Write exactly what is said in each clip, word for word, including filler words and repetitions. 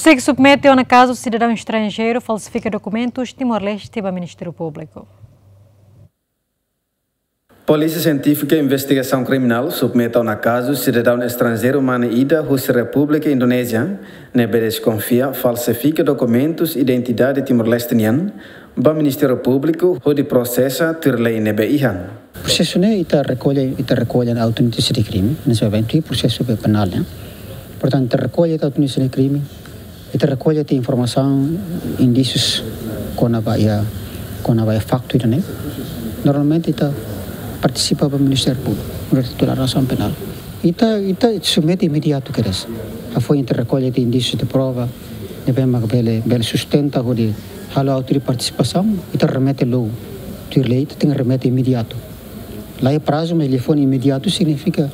Sik submete ona kazu sidadaun estranjeiru falsifika dokumentus Timor-Leste ba Ministériu Públiku. Polísia Sientífika Investigasaun Kriminál submete ona kazu sidadaun estranjeiru mane ida husi Repúblika Indonézia, ne'ebé deskonfia falsifika dokumentus identidade Timor-Leste nian, ba Ministériu Públiku hodi prosesa tuir lei ne'ebé iha. Prosesu ne'e ita rekolla, ita rekolla autór notísia de krime, ne'e sá ba tuir prosesu penál, ne'e. Portantu, ita rekolla autór notísia de krime, ita rekolla informasaun, indísius kona-ba iha, kona-ba iha faktu ida-ne'e. Normalmente ita partisipa ba Ministériu Públiku, deklarasaun penál. Ita, ita submete imediatu kedas. Hafoin ita rekolla indísius de prova, ne'ebé mak bele, bele sustenta hodi halo autu partisipasaun, ita remete loos. Tuir lei ita tenke remete imediatu. Laiha prazu, mas liafuan imediatu signifika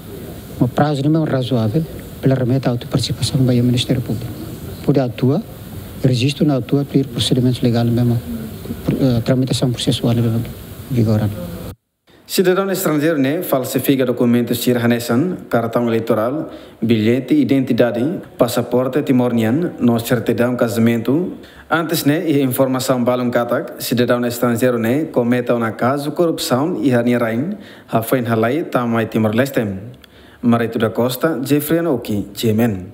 mak prazu ne'ebé razoavel, bele remete autu partisipasaun ba iha Ministériu Públiku. Hodi atua, rejistu no atua tuir prosedimentu legál ne'ebé mak, eh, tramitasaun prosesuál ne'ebé mak vigora. Sidadaun estranjeiru ne'e falsifika dokumentus sira hanesan kartaun eleitorál, billete identidade, pasaporte Timor nian, no sertidaun kazamentu. Antes ne'e, iha informasaun balun katak sidadaun estranjeiru ne'e komete ona kazu korrupsaun iha nia rain, hafoin halai tama mai Timor-Leste. Marito da Costa, Jeffrey Anoki, G M N.